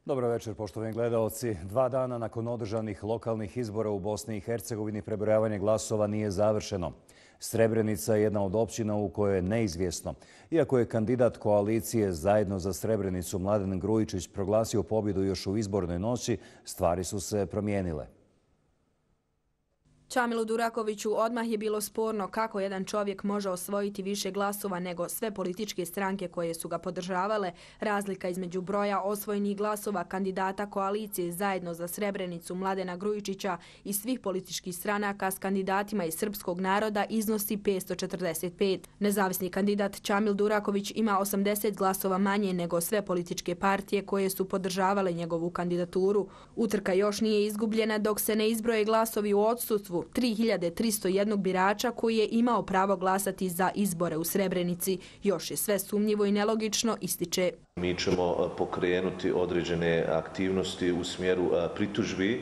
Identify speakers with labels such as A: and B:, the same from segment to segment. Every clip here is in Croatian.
A: Dobro večer, poštovani gledaoci. 2 dana nakon održanih lokalnih izbora u Bosni i Hercegovini prebrojavanje glasova nije završeno. Srebrenica je jedna od općina u kojoj je neizvjesno. Iako je kandidat koalicije Zajedno za Srebrenicu Mladen Grujičić proglasio pobjedu još u izbornoj noći, stvari su se promijenile.
B: Čamilu Durakoviću odmah je bilo sporno kako jedan čovjek može osvojiti više glasova nego sve političke stranke koje su ga podržavale. Razlika između broja osvojenih glasova kandidata koalicije Zajedno za Srebrenicu Mladena Grujičića i svih političkih stranaka s kandidatima iz srpskog naroda iznosi 545. Nezavisni kandidat Čamil Duraković ima 80 glasova manje nego sve političke partije koje su podržavale njegovu kandidaturu. Utrka još nije izgubljena dok se ne izbroje glasovi u odsustvu 3301 birača koji je imao pravo glasati za izbore u Srebrenici. Još je sve sumnjivo i nelogično, ističe.
C: Mi ćemo pokrenuti određene aktivnosti u smjeru pritužbi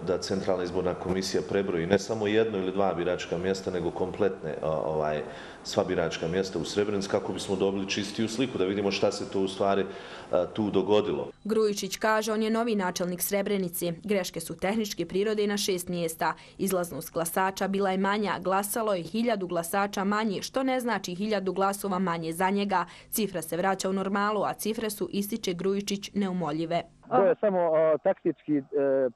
C: da Centralna izborna komisija prebroji ne samo jedno ili dva biračka mjesta, nego kompletne sva biračka mjesta u Srebrenici kako bismo dobili čistiju sliku, da vidimo šta se to u stvari tu dogodilo.
B: Grujičić kaže on je novi načelnik Srebrenici. Greške su tehničke prirode na 6 mjesta. Izlaznost glasača bila je manja, glasalo je 1000 glasača manje, što ne znači 1000 glasova manje za njega. Cifra se vraća u normalu, a cifre su, ističe Grujičić, neumoljive.
D: To je samo taktički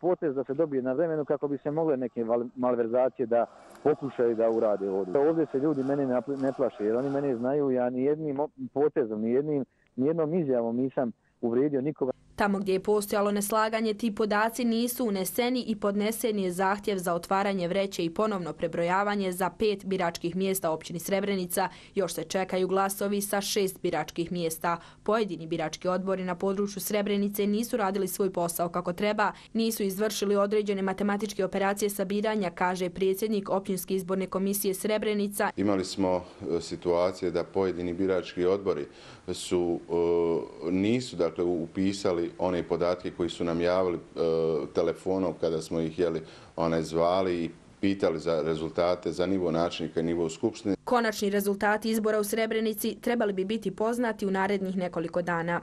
D: potez da se dobije na vremenu kako bi se mogle neke malverzacije da pokušaju da urade ovdje. Ovdje se ljudi mene ne plaše jer oni mene znaju, ja ni jednim potezom, ni jednom izjavom nisam uvrijedio nikoga.
B: Tamo gdje je postojalo neslaganje, ti podaci nisu uneseni i podnesen je zahtjev za otvaranje vreće i ponovno prebrojavanje za 5 biračkih mjesta općini Srebrenica. Još se čekaju glasovi sa 6 biračkih mjesta. Pojedini birački odbori na području Srebrenice nisu radili svoj posao kako treba, nisu izvršili određene matematičke operacije sabiranja, kaže predsjednik općinske izborne komisije Srebrenica.
E: Imali smo situacije da pojedini birački odbori nisu upisali one podatke koji su nam javili telefonom kada smo ih zvali i pitali za rezultate za nivo načelnika i nivo skupštine.
B: Konačni rezultati izbora u Srebrenici trebali bi biti poznati u narednih nekoliko dana.